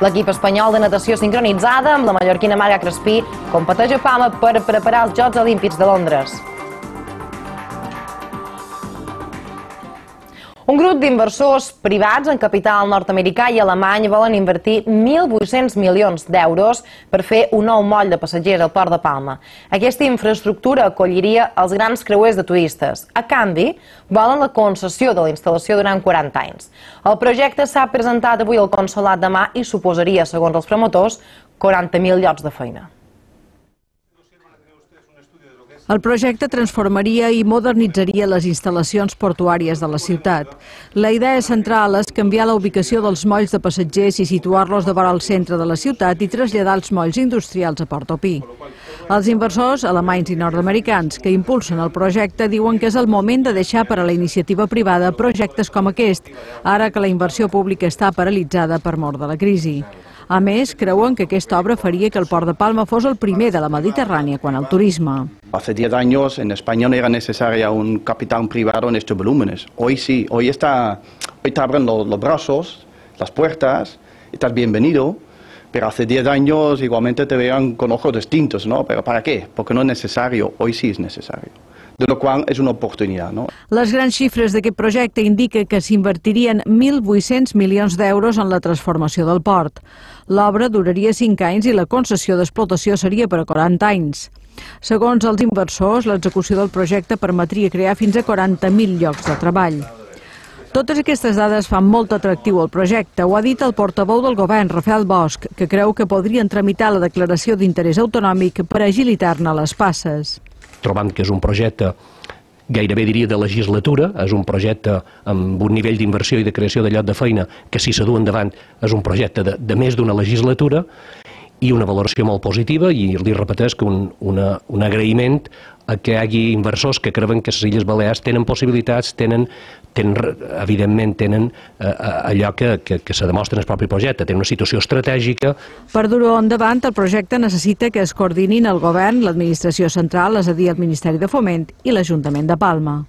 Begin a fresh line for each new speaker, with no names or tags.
L'equip espanyol de natació sincronitzada amb la mallorquina Marga Crespí competeix a Palma per preparar els Jocs Olímpics de Londres. Un grup d'inversors privats en capital nord-americà i alemany volen invertir 1.800 milions d'euros per fer un nou moll de passatgers al Port de Palma. Aquesta infraestructura acolliria els grans creuers de turistes. A canvi, volen la concessió de la instal·lació durant 40 anys. El projecte s'ha presentat avui al Consolat de Mar i suposaria, segons els promotors, 40.000 llocs de feina.
El projecte transformaria i modernitzaria les instal·lacions portuàries de la ciutat. La idea central és canviar la ubicació dels molls de passatgers i situar-los de vora al centre de la ciutat i traslladar els molls industrials a Portopí. Els inversors alemanys i nord-americans que impulsen el projecte diuen que és el moment de deixar per a la iniciativa privada projectes com aquest, ara que la inversió pública està paralitzada per mor de la crisi. A més, creuen que aquesta obra faria que el Port de Palma fos el primer de la Mediterrània quant al turisme.
Hace 10 años en España no era necesaria un capital privado en estos volúmenes. Hoy sí, hoy te abren los brazos, las puertas, estás bienvenido, pero hace 10 años igualmente te veían con ojos distintos, ¿no? ¿Pero para qué? Porque no es necesario, hoy sí es necesario. De lo qual és una oportunitat, no?
Les grans xifres d'aquest projecte indiquen que s'invertirien 1.800 milions d'euros en la transformació del port. L'obra duraria 5 anys i la concessió d'explotació seria per a 40 anys. Segons els inversors, l'execució del projecte permetria crear fins a 40.000 llocs de treball. Totes aquestes dades fan molt atractiu el projecte. Ho ha dit el portaveu del govern, Rafael Bosch, que creu que podrien tramitar la declaració d'interès autonòmic per agilitar-ne les passes.
Trobant que és un projecte gairebé diria de legislatura, és un projecte amb un nivell d'inversió i de creació de lloc de feina que si s'adú endavant és un projecte de més d'una legislatura i una valoració molt positiva i li repeteix que un agraïment a que hi hagi inversors que creuen que les Illes Balears tenen possibilitats, evidentment tenen allò que se demostra en el propi projecte, tenen una situació estratègica.
Per dur-ho endavant, el projecte necessita que es coordinin el govern, l'administració central, és a dir, el Ministeri de Foment i l'Ajuntament de Palma.